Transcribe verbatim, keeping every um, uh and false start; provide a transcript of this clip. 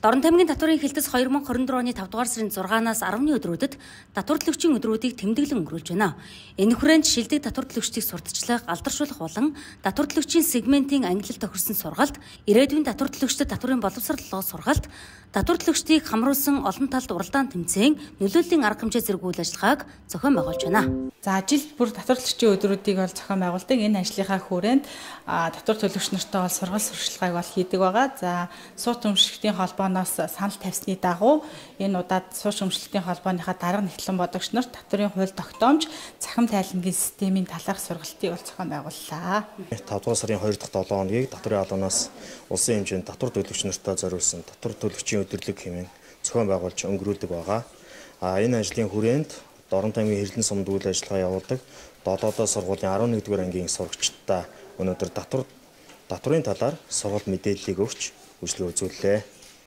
Дорн тамгийн татварын хилтэс хоёр мың хорин дөрөв оны тавд дугаар сарын зургаанаас арваны өдрүүдэд татвар төлөгчийн өдрүүдийг тэмдэглэн өнгөрүүлж байна. Энэ хүрээнд шилдэг татвар төлөгчдийг сурталчлах, алдаршуулах болон татвар төлөгчийн сегментийн ангилалд тохирсон сургалт, ирээдүйн татвар төлөгчдөд татварын боловсроллогоо сургалт, татвар төлөгчдийг хамруулсан олон талд уралдаан тэмцээн, нөлөөллийн арга хэмжээ зэрэг үйл ажиллагааг зохион байгуулж байна. За жил бүр татвар төлөгчийн өдрүүдийг бол зохион байгуулдаг. Энэ ажлынхаа хүрээнд татвар төлөгч нартай бол сургалт сурчлагыг бол хийдэг байгаа. За сууц өмчлөлтийн холбооноос санал тавьсны дагуу энэ удаад сууц өмчлөлтийн холбооныхаа дарга нэгтлэн бодогч нарт татварын хууль тогтоомж, цахим тайлангийн системийн талаарх сургалтыг бол зохион байгууллаа. тавд дугаар сарын хоёр дахь долоо хоногийг татварын албанаас улсын хэмжээнд татвар төлөгч нартай зориулсан татвар төлөгчийн өдөрлөг хэмээн зохион байгуулж өнгөрүүлдэг байгаа. А энэ ажлын хүрээнд Дорн тамгийн хэрлэн сумд үйл ажиллагаа явуулдаг долоодоо сургуулийн арван нэгдүгээр ангийн сурагчдаа өнөөдөр татвар татварын талаар сургалт мэдээллийг өгч үйлчлэг үзүүллээ.